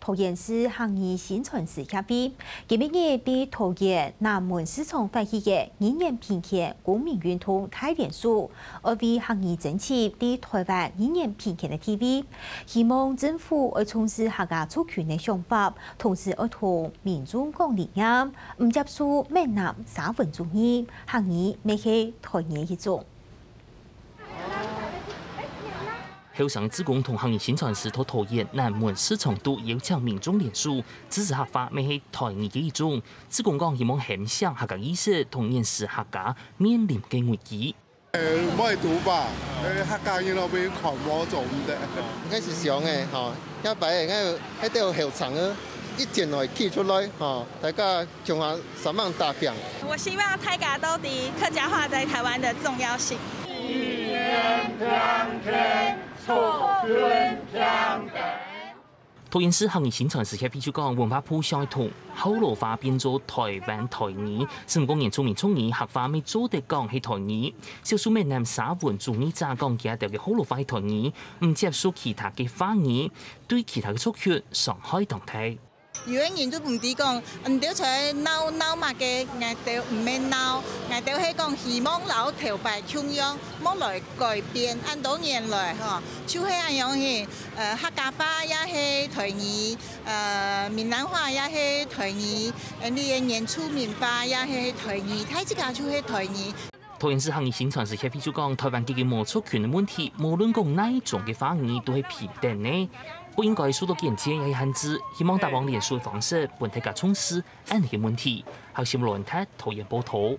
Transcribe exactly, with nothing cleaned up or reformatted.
桃園市客語薪傳師協會今晡日在桃園南門市場發起个語言平權公民運動大連署，愛為客語爭取在台灣語言平權个地位。希望政府愛重視客家族群个想法，同時愛同民眾講理念，毋接受閩南沙文主義，客語乜係台語一種。 後生个志工同客語薪傳師在桃園南門市場肚邀請民眾連署，支持客話乜係台語个一種。志工講，希望喊醒客家意識，同認識客家面臨个危機。呃，毋會讀吧？呃，客家人都被看無做毋得。開始想誒，吼，下擺个，該兜後生个，一定會企出來，吼，大家 共下煞猛打拚。我希望大家都知客家話在台灣的重要性。語言平權，族群平等。桃園市客語薪傳師協會就講，文化部想愛同學老話變做台灣台語，毋過原住民族語客話乜做得講係台語。少數閩南沙文主義者講佢兜个學老話係台語，毋接受其他个話語，對其他个族群傷害當大。 有个人都毋知講，你兜在鬧鬧麼个，𠊎兜毋免鬧，𠊎兜係講希望摎頭擺共樣，莫來改變。恁多年來吼，就係恁樣形，呃，客家話也係台語，呃，閩南話也係台語，呃，你个原住民話也係台語，大自家就係台語。 桃園市客語薪傳師協會就講，台灣解決無族群个問題，無論講哪一種个話語，都係平等个，毋應該受到邊界个限制。希望打幫連署个方式，分大家重視恁个問題。客新聞論壇，桃園報導。